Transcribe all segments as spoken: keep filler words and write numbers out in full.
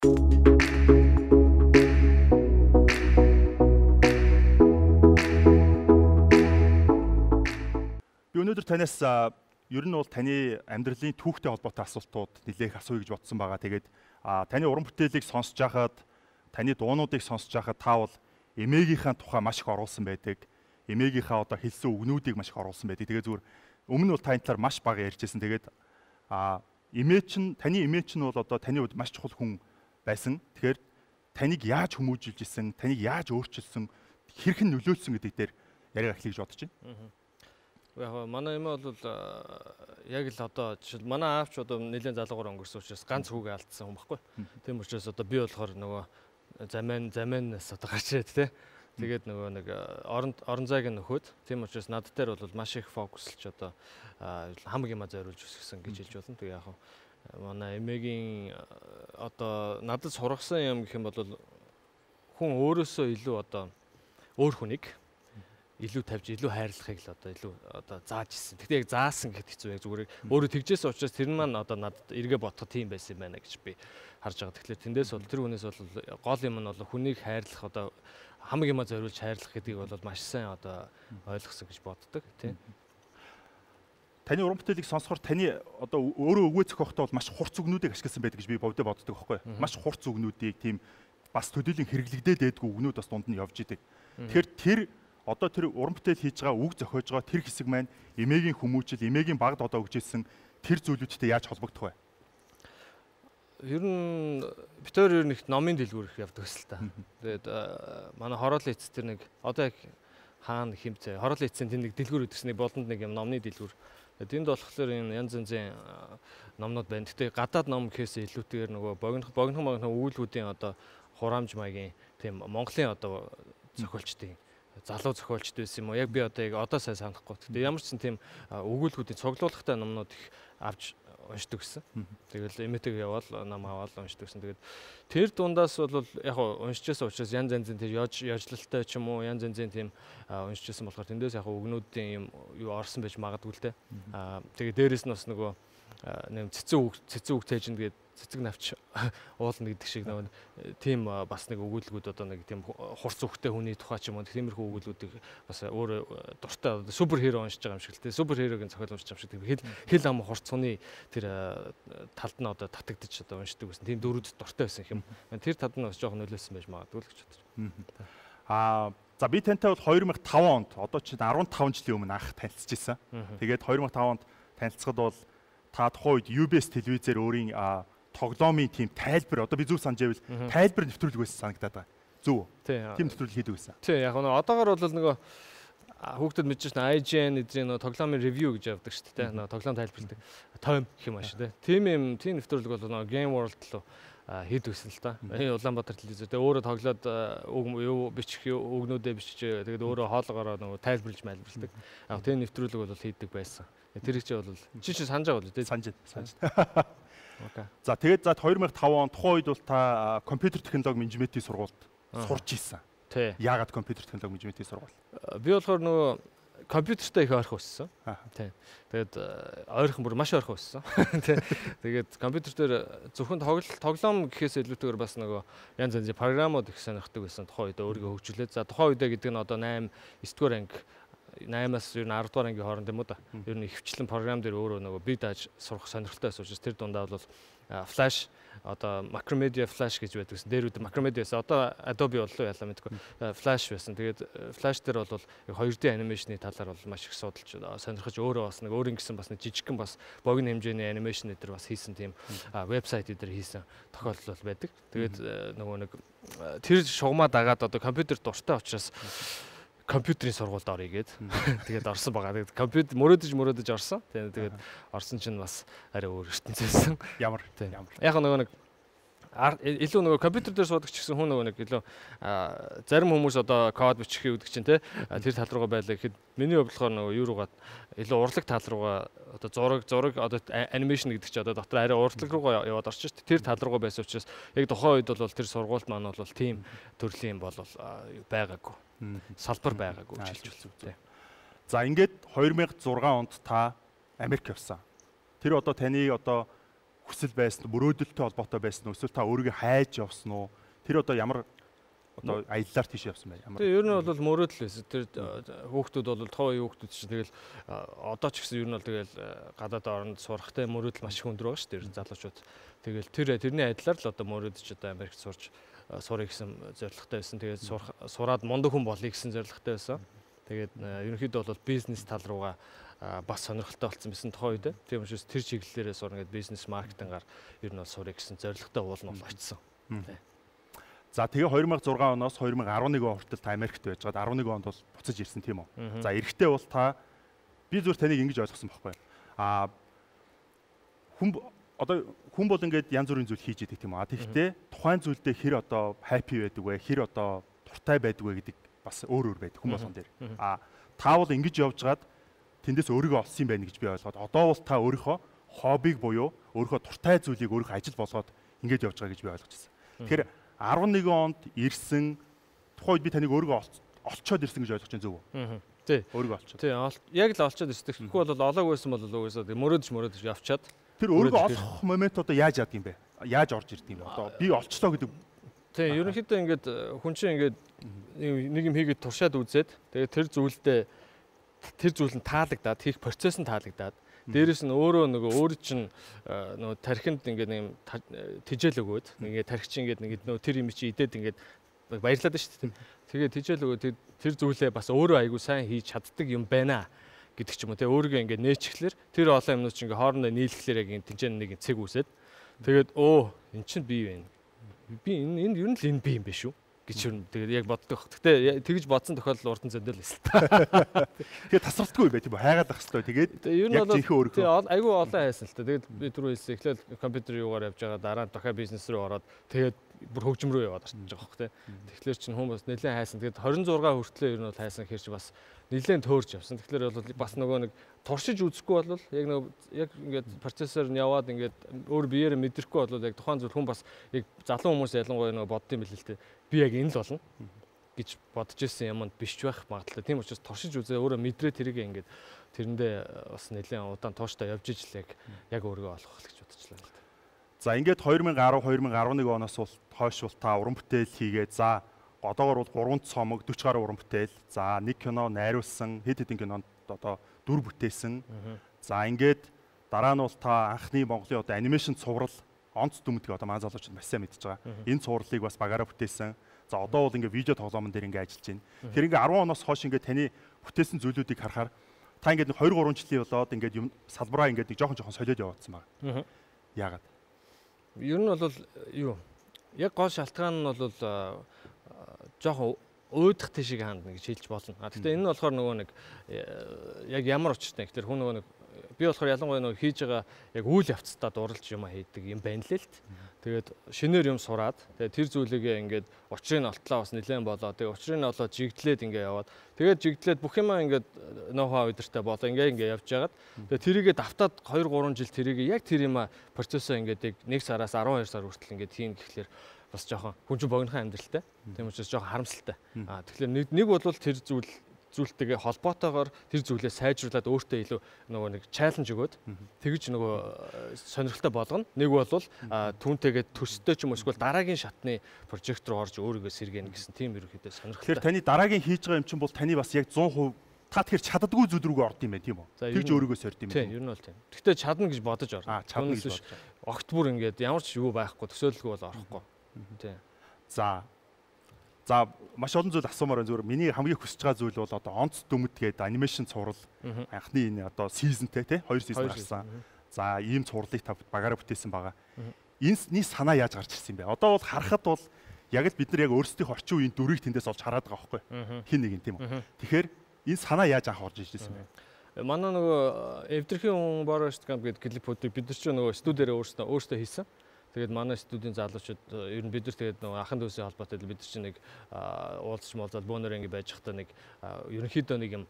Би өнөөдөр танаас ер нь бол таны амьдралын түүхтэй холбоотой асуултууд нэлээх асууя гэж бодсон байгаа. Тэгээд таны уран бүтээлийг сонсож байхад, таны дуунуудыг сонсож байхад та бол эмээгийнхаа тухай маш их оруулсан байдаг. Эмээгийнхаа одоо хэлсэн үгнүүдийг маш их оруулсан байдаг. Тэгээд зүгээр өмнө нь бол таны талаар маш бага ярьжсэн. Тэгээд а эмээ чинь таны эмээ чинь бол одоо таны хувьд маш чухал хүн байсан. Тэгэхээр таныг яаж хүмүүжилж исэн, таныг яаж өөрчилсөн, хэрхэн нөлөөлсөн гэдэг дээр яриа эхлэе гэж бодож байна. Яг манай эмээ бол яг л одоо жишээл манай аавч одоо нэлээд залуугаар өнгөрсөн учраас ганц хүүгээ алдсан хүн баггүй. Тийм учраас одоо би болохоор нөгөө замын замынаас одоо гарч ирээд те. Тэгээд нөгөө нэг орон орон зайг нөхөд. Тийм учраас над дээр бол маш их фокуслж одоо хамаг юма зориулж өсгсөн гэж хэлж болно. Тэгээ яг манай эмээгийн одоо надад сургасан юм гэх юм бол хүн өөрөөсөө илүү одоо өөр хүнийг илүү тавьж илүү хайрлахыг л одоо илүү одоо зааж ирсэн. Тэгтээ яг заасан гэхэд хэцүү яг зүгээр өөрөө тэгжээс учраас тэр нь маань одоо надад эргээ бодоход тийм байсан юм байна гэж би харж байгаа. Тэгэхээр тэндээс бол тэр хүнээс бол гол юм нь бол хүнийг хайрлах одоо хамаг юма зориулж хайрлах гэдгийг бол маш сайн одоо ойлгосон гэж боддог тийм. Таны уран бүтээлийг сонсохоор таны одоо өөрөө өгөө зохиохтой бол маш хурц үгнүүдийг ашигласан байдаг гэж би боддог боддог байхгүй. Маш хурц үгнүүдийг тийм бас төдийлөн хэрэглэгдээд байдгүй үгнүүд бас дунд нь явж идэг. Тэгэхээр тэр одоо тэр уран бүтээл хийж байгаа, үг зохиож байгаа тэр хэсэг маань эмээгийн хүмүүжил, эмээгийн багд одоо өгчээсэн тэр зүйлүүдтэй яаж холбогдох вэ? Ер нь битээр ер нь их номын дэлгүүр их явдаг гэсэн та. Тэгээд манай хороолын эцэс тэр нэг одоо яг хаана хэмцээ хороолын эцсийн тэр нэг дэлгүүр өгдөгсний болонд нэг юм номны дэлгүүр. Тэнд болохоор энэ янз янзын номнууд байна. Гэтэ гадаад ном гэхээс илүүтэйгээр нөгөө богинох богинох богинох үүлгүүдийн одоо хураамж маягийн тийм Монголын одоо зохиолчдын залуу зохиолчд байсан юм уу? Яг би одоо яг одоо сайн санахгүй. Гэтэ ямар ч тийм өгүүлбэрүүдийн цуглуулгатай номнууд их авч уншдаг гэсэн. Тэгэл эмээтэйг яваал ном аваад уншдаг гэсэн. Тэгээд тэр дундаас бол яг уншижсэн учраас янз янзын тэр яжлалтай ч юм уу янз янзын тийм уншижсэн болохоор тэндээс яг өгнүүдийн юм юу орсон байж магадгүй л дээ. Аа тэгээд дээрэс нь бас нөгөө нэм цэцэн үг цэцэн үг цээжин тэгээд цэцэг навч уулна гэдэг шиг нэг тийм бас нэг өгүүлбэрүүд одоо нэг тийм хурц үхтэй хүний тухай ч юм уу тиймэрхүү өгүүлбэрүүдийг бас өөр дуртай супер хиро уншиж байгаа юм шиг л тийм супер хирогийн зохиол уншиж байгаа юм шиг хэл хэл ам хурц хүний тэр талд нь одоо татагдчих одоо уншдаг байсан тийм дөрүүд дуртай байсан юм. Тэр талд нь бас жоохон нөлөөсөн байж магадгүй л гэж бодож. Аа за би тантай бол хоёр мянга таван онд одоо чинь арван таван жилийн өмнө анх танилцчихсан. Тэгээд хоёр мянга таван онд танилцсахад бол та тухайн үед ю би эс телевизээр өөрийн тоглоомын тийм тайлбар одоо би зөв санаж байвал тайлбар нэвтрүүлэг байсан санагдаад байгаа. Зөв. Тийм нэвтрүүлэг хийдэг байсан. Тийм яг нь одоогор бол нөгөө хүүхдэд мэдж байна ай джи эн эдрийн нөгөө тоглоомын ревю гэж явдаг шүү дээ. Нөгөө тоглоом тайлбарладаг. Том гэх юм ааш тий. Тийм юм тийм нэвтрүүлэг бол нөгөө Game World руу хийдэг гэсэн л та. Энэ Улаанбаатар телевизээр тэгээ өөрөө тоглоод үг юу бичих үгнүүдээ бичиж тэгээд өөрөө хоолгороо нөгөө тайлбарлаж майлбарладаг. Яг тийм нэвтрүүлэг бол хийдэг байсан. Тэр их ч бол чи чи санаж байгаа бол тий. Санаж санаж. Окей. За тэгээд за хоёр мянга таван он тухайн үед бол та компьютер технологи менежментийн сургуульд сурч ийсэн. Тий. Яагаад компьютер технологи менежментийн сургууль? Би болохоор нөгөө компьютертай их ойрхон өссөн. Тий. Тэгээд ойрхон бүр маш ойрхон өссөн. Тий. Тэгээд компьютер дээр зөвхөн тоглоом гэхээс илүүтэйгээр бас нөгөө янз янзын програмууд их сонирхдаг байсан. Тухайн үед өөрийгөө хөгжүүлээд. За тухайн үедээ гэдэг нь одоо восемь девять дугаар анги наймаас ер нь десять дугаар ангийн хооронд юм уу да. Ер нь хвчлэн програм дээр өөрөө нөгөө бие дааж сурах сонирхолтой байсан учраас тэр дундаа бол Flash одоо Macromedia Flash гэж байдаг гэсэн. Дээр үдэ Macromedia байсан. Одоо Adobe боллоо ялаа мэдгүй. Flash байсан. Тэгээд Flash дээр бол хоёр дэ анимашны талаар бол маш их судалж сонирхож өөрөө бас нэг өөр ингэсэн бас нэг жижигхэн бас богино хэмжээний анимашн дээр бас хийсэн тийм вебсайт дээр хийсэн тохиолдол байдаг. Тэгээд нөгөө нэг тэр шугамаа дагаад одоо компьютер дуртай учраас компьютерийн сургуульд орё гээд тэгээд орсон байгаа. Тэгээд компьютер мөрөөдөж мөрөөдөж орсон. Тэгээд орсон чинь бас арай өөр ертөнцөөсөн. Ямар ямар. Яг нөгөө нэг илүү нөгөө компьютер дээр суудаг ч гэсэн хүн нөгөө нэг илүү зарим хүмүүс одоо код бичих гэдэг чинь те тэр тал руугаа байлаа гэхэд миний хувьд болохоор нөгөө юу руугаа илүү урлаг тал руугаа одоо зураг зураг одоо анимашн гэдэг чинь одоо дотор арай урдлаг руугаа яваад орчих шүү дээ. Тэр тал руугаа байсан учраас яг тухайн үед бол тэр сургуульд маань бол тийм төрлийн бол байгаагүй. Салбар байгаагүй гэж хэлж байна. За ингээд хоёр мянга зургаан онд та Америк явсан. Тэр одоо таны одоо хүсэл байсан уу, мөрөөдөлтэй холбоотой байсан уу, эсвэл та өөрийгөө хайж явсан уу? Тэр одоо ямар одоо аяллаар тийш явсан бай. Ямар. Тэгээ ер нь бол мөрөөдөл байсан. Тэр хүүхдүүд бол тоо хүүхдүүд чинь тэгэл одоо ч гэсэн ер нь бол тэгэл гадаад оронд сурахтай мөрөөдөл маш их өндөр байгаа шүү дээ. Залуучууд. Тэгэл тэр тэрний адилаар л одоо мөрөөдөж одоо Америкт сурч сурах гэсэн зорилготой байсан. Тэгээд сураад мундаг хүн болъё гэсэн зорилготой байсан. Тэгээд ерөнхийдөө бол бизнес тал руугаа бас сонирхолтой болсон байсан тухай үед. Тийм учраас тэр чиглэлээрээ сурна гэдэг бизнес маркетингаар ер нь бол сурах гэсэн зорилготой уулна бол очсон. За тэгээ две тысячи шесть оноос две тысячи eleven он хүртэл та Америкт байжгаад eleven онд бол буцаж ирсэн тийм үү. За эрэхтэй бол та би зүгээр таныг ингэж ойлгосон байхгүй. Аа хүн одоо хүн бол ингээд янз бүрийн зүйл хийж идэг тийм үү. Тэгэхдээ тухайн зүйлдээ хэр одоо happy байдаг вэ? Хэр одоо дуртай байдаг вэ гэдэг бас өөр өөр байдаг хүн болгон дээр. Аа та бол ингэж явжгаад тэндээс өөрийгөө олсон юм байна гэж би ойлгоод одоо бол та өөрийнхөө хоббиг буюу өөрийнхөө дуртай зүйлийг өөрийнхөө ажил болгоод ингэж явж байгаа гэж би ойлгож байна. Тэгэхээр eleven онд ирсэн тухайд би таныг өөрийгөө олцоод ирсэн гэж ойлгож байна зөв үү? Тий. Өөрийгөө олцоод. Тий, яг л олцоод ирсэн. Тэгэхгүй бол олоог байсан бол угаасаа мөрөөдөж мөрөөдөж явчаад. Тэр өөрийгөө олох момент одоо яаж яадаг юм бэ? Яаж орж ирдэг юм бэ? Одоо би олчлоо гэдэг. Тий, ерөнхийдөө ингээд хүн чинь ингээд нэг юм хийгээд туршаад үзээд тэгээд тэр зүйлдээ тэр зүйл нь таалагдаад хийх процесс нь таалагдаад дээрэс нь өөрөө нөгөө өөрөө чинь нөгөө тархинд ингээд нэг тижэл өгөөд ингээд тархич ингээд нэг нөгөө тэр юм чи идээд ингээд баярлаад шүү дээ. Тэгээд тижэл өгөөд тэр зүйлээ бас өөрөө айгу сайн хийж чаддаг юм байна гэдэг ч юм уу те өөрийгөө ингээд нээчихлэр тэр олон юмнууд чинь ингээд хоорондоо нийлэхлээр яг энэ тэнцэн нэг цэг үсээд тэгээд өө эн чинь би байна. Би энэ энд ер нь л энэ би юм биш үү гэж юм. Тэгээд яг боддог. Гэтэ тэгж бодсон тохиолдол урд нь зөндөл байсан. Тэгээд тасралтгүй бай тийм үү? Хайгаад ах хэрэгтэй. Тэгээд яг зинхээ өөрөөр. Айгүй олон хайсан л та. Тэгээд би түрүү хэлсэн эхлээл компьютер юугаар явж байгаа дараа нь дахиад бизнес рүү ороод тэгээд бүр хөгжим рүү яваад орчих жоох те. Тэгэхээр чинь хүмүүс нэлээд хайсан. Тэгээд twenty-six хүртлээр ер нь бол хайсан хэрч бас нэлээд төөрж явсан. Тэгэхээр бол бас нөгөө нэг туршиж үзэхгүй бол яг нөгөө яг ингээд процессор нь яваад ингээд өөр биеэрээ мэдрэхгүй бол яг тухайн зүйл хүн бас яг залуу хүмүүс ялангуяа нөгөө боддсон юм билээ л те. Би яг энэ л болно гэж бодож ирсэн юмд биш байх магадлалтай. Тийм учраас туршиж үзээ өөрөө мэдрээ тэрийг ингээд тэрэндээ бас нэлээд удаан тууштай явж ижил яг яг өөрийгөө олох гэж бодчихлаа л да. За ингээд twenty ten twenty eleven оноос бол хойш бол та уран бүтээл хийгээд за одоогор бол three цомог forty гаруй уран бүтээл за нэг кино найруулсан хэд хэдэн кинонд одоо дүр бүтээсэн. За ингээд дараа нь бол та анхны Монголын одоо анимашн цуврал онц дүмдэг одоо маань залуучууд маш сайн мэдж байгаа. Энэ цувралыг бас багаараа бүтээсэн. За одоо бол ингээд видео тоглоомн дээр ингээд ажиллаж байна. Тэгэхээр ингээд ten оноос хойш ингээд таны бүтээсэн зүйлүүдийг харахаар та ингээд two three жилийн болоод ингээд юм салбараа ингээд нэг жоохон жоохон солиод яваадсан байна. Яагаад? Ер нь бол юу? Яг гол шалтгаан нь бол жоохон өөдөх тишиг хандна гэж хэлж болно. А гэхдээ энэ нь болохоор нөгөө нэг яг ямар учиртай. Тэгэхээр хүн нөгөө нэг би болохоор ялангуяа нөгөө хийж байгаа яг үйл явцдаа дурлж юм хийдэг юм байна л л. Тэгээд шинээр юм сураад тэгээд тэр зүйлийгээ ингээд учрыг нь олтлоо бас нэлээд болоо. Тэгээд учрыг нь олоод жигдлээд ингээд яваад тэгээд жигдлээд бүх юмаа ингээд ноу-хау өдөртэй болоо ингээд ингээд явж байгаад тэгээд тэрийгээ давтаад two three жил тэрийгээ яг тэр юмаа процессоо ингээд нэг сараас twelve сар хүртэл ингээд хийн гэхлээр бас жоохон хүн чинь богинохан амьдралтай. Тийм учраас жоохон харамсалтай. Аа тэгэхээр нэг нэг бол тэр зүйл зүйлтэйгээ холбоотойгоор тэр зүйлээ сайжруулад өөртөө илүү нөгөө нэг чаленж өгөөд тэгж нөгөө сонирхолтой болгоно. Нэг бол түүнтэйгээ төстэй ч юм уу эсвэл дараагийн шатны прожект руу орж өөрийгөө сэргээнэ гэсэн тийм ерөнхийдөө сонирхолтой. Тэгэхээр таны дараагийн хийж байгаа юм чинь бол таны бас яг one hundred percent та тэгэхээр чаддаггүй зүйл рүүгээ орд юм байна тийм үү? Тэгж өөрийгөө сорд юм байна. Тийм, ер нь бол тийм. Гэхдээ чадна гэж бодож орно. Аа, чадна гэж бодож. Огт бүр ингээд ямар ч юу байхгүй төсөөлөлгүй бол орохгүй. Тийм. За За маш олон зүйл асуумаар байна зүгээр. Миний хамгийн хүсэж байгаа зүйл бол одоо онц дүмэд гээд анимашн цуврал анхны энэ одоо сизонтэй тий хоёр сизон гарсан. За ийм цувралыг та багаараа бүтээсэн байгаа. Энэний санаа яаж гарч ирсэн бэ? Одоо бол харахад бол яг л бид нар яг өөрсдийнхөө орчин үеийн дүрийг тэндээс олж хараад байгаа байхгүй хин нэг юм тийм үү. Тэгэхээр энэ санаа яаж анх орж ирсэн бэ? Манай нөгөө эвдэрхийн хүн Бороост камп гэдэг клипүүдийг бид нар ч нөгөө студиэрээ өөрсдөө өөрсдөө хийсэн. Тэгээд манай студийн залуучууд ер нь бид нар тэгээд нөгөө ахын дүүсийн холбоотой бид нар чинь нэг уулзч муулзаад бөөнөр ингэ байж хата нэг ерөнхийдөө нэг юм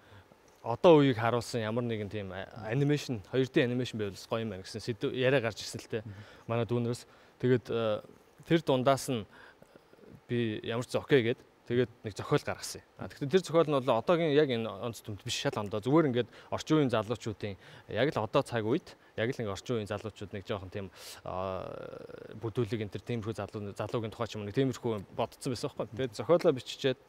одоо үеийг харуулсан ямар нэгэн тийм анимашн two D анимашн байвал гоё юм байна гэсэн сэдв яриа гарч ирсэн л те манай дүүнерээс. Тэгээд тэр дундаас нь би ямар ч окей гээд Тэгээд нэг зохиол гаргасан. А тэгэхээр тэр зохиол нь бол одоогийн яг энэ онц төмд биш шал ондоо зүгээр ингээд орчин үеийн залуучуудын яг л одоо цаг үед яг л нэг орчин үеийн залуучууд нэг жоохон тийм бүдүүлэг энэ төр тиймэрхүү залуу залуугийн тухай ч юм нэг тиймэрхүү бодцсон байсан байхгүй. Тэгээд зохиолоо биччихээд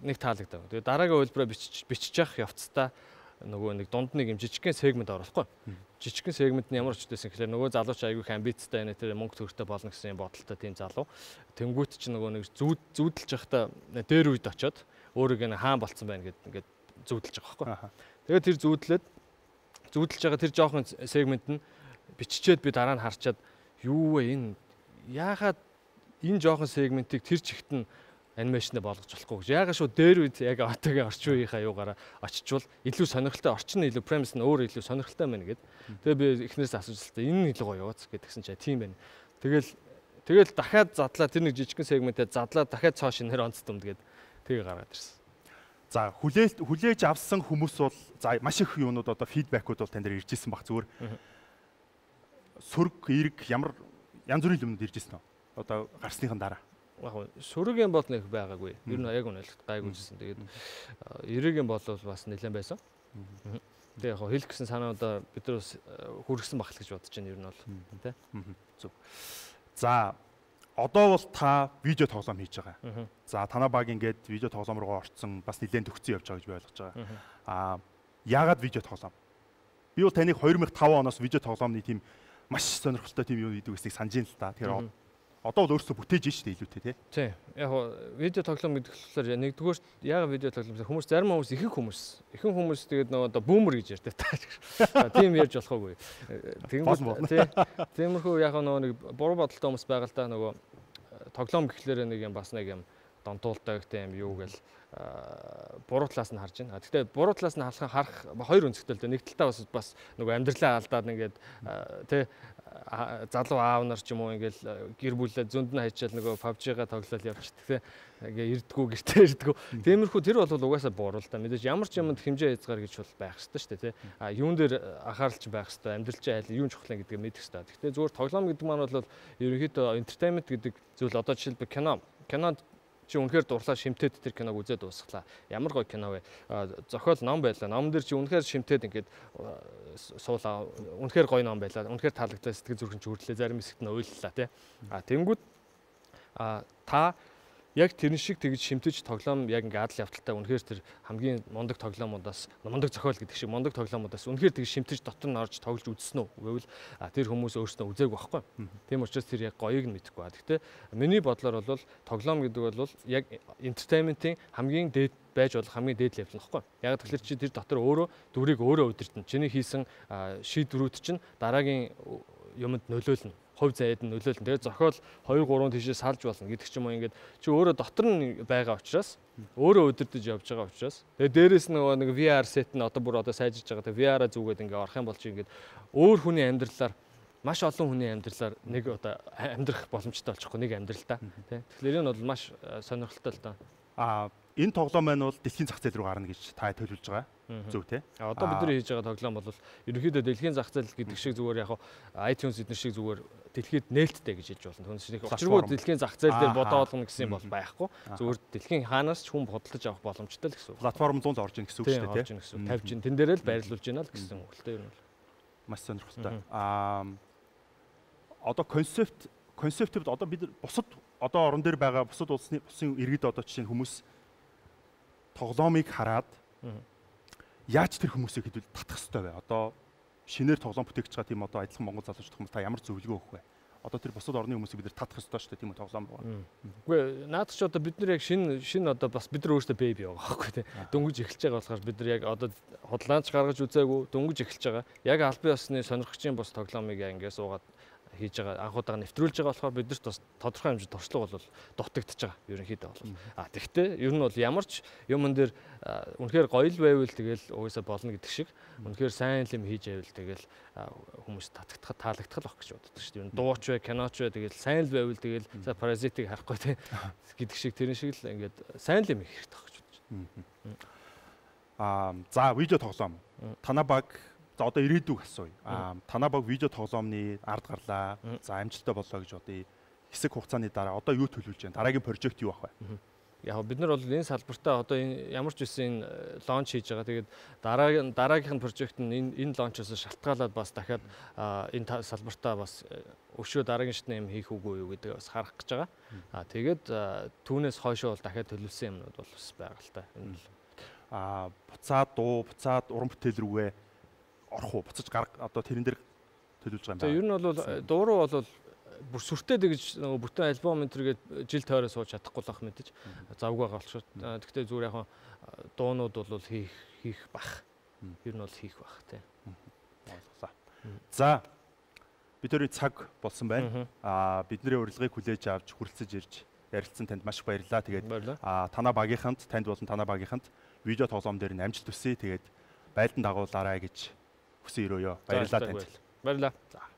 нэг таалагдав. Тэгээд дараагийн үйлбэрээ бичиж бичиж явах явцдаа нөгөө нэг дунд нэг юм жижигхэн сегмент оруулахгүй. Жижигхэн сегмент нь ямар ч үдээсэн гэхээр нөгөө залууч аягүй их амбицтай энэ тэр мөнгө төгрөгтэй болно гэсэн бодолтой тийм залуу. Тэнгүүт ч нөгөө нэг зүүд зүүдэлж явахдаа дээр үед очиод өөрийгөө хаан болцсон байна гэд ингээд зүүдэлж байгаа байхгүй. Тэгээд тэр зүүдлээд зүүдэлж байгаа тэр жоохон сегмент нь биччихээд би дараа нь харчаад юу вэ энэ яагаад энэ жоохон сегментийг тэр чигт нь анимашнд болгож болохгүй гэж. Яагаад шүү дээр үед яг одоогийн орчин үеийнхаа юугаараа очичвол илүү сонирхолтой орчин нь илүү премис нь өөр илүү сонирхолтой байна гэд. Тэгээ би эхнээс асууж хэлсэн. Энэ нь илүү гоё яваац гэдгсэн чинь тийм байна. Тэгэл тэгэл дахиад задлаа тэр нэг жижигхэн сегментээ задлаа дахиад цоо шинээр онц дүмд гэд тэгээ гаргаад ирсэн. За хүлээж хүлээж авсан хүмүүс бол за маш их юунууд одоо фидбэкүүд бол тань дээр ирж ирсэн баг зүгээр. Сүрг, эрг ямар янз бүрийн юмнууд ирж ирсэн үү? Одоо гарсныхан дараа. Яг сүргийн бол нэг байгаагүй. Ер нь яг үнэлэхэд гайгүйжсэн. Тэгээд эргийн бол бас нэлээд байсан. Тэгээд яг хэлэх гэсэн санаудаа бид нар бас хүргэсэн багт гэж бодож байна ер нь бол тий. Зөв. За одоо бол та видео тоглоом хийж байгаа. За танаа баг ингээд видео тоглоом руу орцсон бас нэлээд төгссөн явж байгаа гэж би ойлгож байгаа. Аа яагаад видео тоглоом? Би бол таныг хоёр мянга таван оноос видео тоглоомны тийм маш сонирхолтой тийм юу гэдэг үснийг санаж ин л та. Тэгэхээр одоо бол өөрсдөө бүтээж шүү дээ илүүтэй тий. Тий. Яг видео тоглоом гэдэг болохоор нэгдүгээр яагаад видео тоглоом хүмүүс зарим хүмүүс ихэнх хүмүүс ихэнх хүмүүс тэгээд нөгөө одоо бүүмер гэж ярьдаг та. Тийм ярьж болохгүй. Тэгэнгүүт тий. Тиймэрхүү яг нөгөө нэг буруу бодолтой хүмүүс байгаа л да нөгөө тоглоом гэхлээр нэг юм бас нэг юм донтуулдаг тийм юу гэл буруу талаас нь харж байна. Гэхдээ буруу талаас нь харах харах хоёр өнцгтэй л дээ. Нэг талдаа бас бас нөгөө амьдралаа алдаад ингээд тий залуу аав нар ч юм уу ингээл гэр бүлээ зөнд нь хайчаал нөгөө пабжига тоглол явчихдаг тий. Ингээ ирдгүү гэртээ ирдгүү. Тиймэрхүү тэр бол угаасаа буруу л да. Мэдээж ямар ч юмд хэмжээ хязгаар гэж бол байх хэрэгтэй шүү дээ тий. А юун дээр анхааралч байх хэрэгтэй, амьдрал чинь айл юун чухлаа гэдгийг мэдэх хэрэгтэй. Гэхдээ зүгээр тоглоом гэдэг маань бол ерөнхийдөө entertainment гэдэг зүйл одоо жишээлбэл кино кинонд чи үнэхээр дурлаа шимтээд тэр киног үзээд дуусглаа. Ямар гоё кино вэ? Зохиол ном байлаа. Номон дээр чи үнэхээр шимтээд ингээд суулаа. Үнэхээр гоё ном байлаа. Үнэхээр таалагдлаа, сэтгэл зүрхэн ч хөрлөө, зарим хэсэгт нь уйллаа тий. А тэнгүүд а та яг тэрэн шиг тэгж шимтэж тоглоом яг ингээд адал явталтай үнэхээр тэр хамгийн мундаг тоглоомудаас мундаг зохиол гэдэг шиг мундаг тоглоомудаас үнэхээр тэгж шимтэж дотор нь орж тоглож үзсэн үү гэвэл тэр хүмүүс өөрсдөө үзээгүй байхгүй. Тийм учраас тэр яг гоёыг нь мэдэхгүй ба. Гэхдээ миний бодлоор бол тоглоом гэдэг бол яг entertainment-ийн хамгийн дээд байж болох хамгийн дээд левел нөхгүй. Яг тэгэхээр чи тэр дотор өөрөө дүрийг өөрөө удирдна. Чиний хийсэн шийдвэрүүд чинь дараагийн юмд нөлөөлнө. Хувь заяад нь нөлөөлнө. Тэгээд зохиол хоёр гурван тийшээ салж болно гэдэг ч юм уу ингээд чи өөрөө дотор нь байгаа учраас өөрөө удирдах явж байгаа учраас тэгээд дээрэс нь нөгөө нэг ви ар сет нь одоо бүр одоо сайжирч байгаа. Тэгээд ви ар-а зүгээд ингээд орох юм бол чи ингээд өөр хүний амьдралаар маш олон хүний амьдралаар нэг одоо амьдрах боломжтой болчихгүй нэг амьдралтаа тий. Тэгэхээр энэ бол маш сонирхолтой л доо. Аа энэ тоглоом маань бол дэлхийн зах зээл рүү гарна гэж та төлөвлөж байгаа. Зөв тий. А одоо бид нар хийж байгаа тоглоом бол ерөнхийдөө дэлхийн зах зээл гэдэг шиг зүгээр яг iTunes эдгээр шиг зүгээр дэлхийд нээлттэй гэж хэлж болно. Түүнээс нэг учиргүй дэлхийн зах зээл дээр бодоолгоно гэсэн юм бол байхгүй. Зүгээр дэлхийн хаанаас ч хүн бодлож авах боломжтой л гэсэн үг. Платформ зүүн орж ийн гэсэн үг шүү дээ тий. тавьж ин тэн дээрээ л байрлуулж байна л гэсэн үг л дээ ер нь. Маш сонирхолтой. Аа одоо концепт концептд одоо бид бусад одоо орон дээр байгаа бусад улсны улсын иргэд одоо жишээ нь хүмүүс тоглоомыг хараад яаж тэр хүмүүсийг хэдүүл татах хэрэгтэй вэ? Одоо шинээр тоглоом бүтээгч байгаа тийм одоо адилхан монгол залуучууд хүмүүс та ямар зөвлөгөө өгөх вэ? Одоо тэр бусад орны хүмүүсийг бид нар татах хэрэгтэй шүү дээ тийм үү тоглоом руу. Үгүй наад чи одоо бид нар яг шинэ шинэ одоо бас бид нар өөрсдөө бэби байгаа байхгүй тийм. Дөнгөж эхэлж байгаа болохоор бид нар яг одоо худлаанч гаргаж үзээгүй дөнгөж эхэлж байгаа. Яг албан ёсны сонирхогчийн бус тоглоомыг ингээс уугаад хийж байгаа анхудаага нэвтрүүлж байгаа болохоор бидэрт бас тодорхой хэмжээнд туршлага бол дутагдж байгаа ерөнхийдөө бол. А тэгвэл ер нь бол ямар ч юмн дээр үнэхээр гоё л байвал тэгэл угаасаа болно гэдэг шиг үнэхээр сайн юм хийж байвал тэгэл хүмүүс татагдах таалагдах л баг гэж боддог шүү дээ. Ер нь дууч вэ, киноч вэ тэгэл сайн л байвал тэгэл за паразитыг харахгүй те гэдэг шиг тэрэн шиг л ингээд сайн юм их хэрэгтэй баг гэж бодож байна. Аа за видео тоглоом. Танаа баг за одоо ирээдүг асууя. Аа танаа баг видео тоглоомны ард гарлаа. За амжилттай боллоо гэж бодъё. Хэсэг хугацааны дараа одоо юу төлөвлөж байна? Дараагийн прожект юу ах вэ? Яг бид нар бол энэ салбартаа одоо энэ ямар ч үсэн лонч хийж байгаа. Тэгээд дараагийн дараагийнх нь прожект нь энэ энэ лончоос шалтгаалаад бас дахиад энэ салбартаа бас өшөө дараагийн шатны юм хийх үгүй юу гэдэг бас харах гэж байгаа. Аа тэгээд түүнээс хойшоо бол дахиад төлөвлөсөн юмнууд бол бас байгаа л та. Энэ л аа буцаад дуу, буцаад уран бүтээл рүүгээ орох уу? Буцаж гарга одоо тэрэн дээр төлөвлөж байгаа юм байна. Тэгээ ер нь бол дуу руу бол бүр сүртэй дэгж нөгөө бүтэн альбом энэ төргээд жил тойроо сууж чадахгүй л ах мэдээж завгүй байгаа болчиход. Гэхдээ зүгээр яг дуунууд бол хийх хийх бах. Ер нь бол хийх бах тий. Ойлголоо. За бидний цаг болсон байна. Аа бидний урилгыг хүлээж авч хүрэлцэж ирж ярилцсан танд маш их баярлалаа. Тэгээд аа танаа багийнханд танд болон танаа багийнханд видео тоглоом дээр нь амжилт хүсье. Тэгээд байлдан дагуулаарай гэж хүсэн өрөөё. Баярлалаа танд. Баярлалаа. За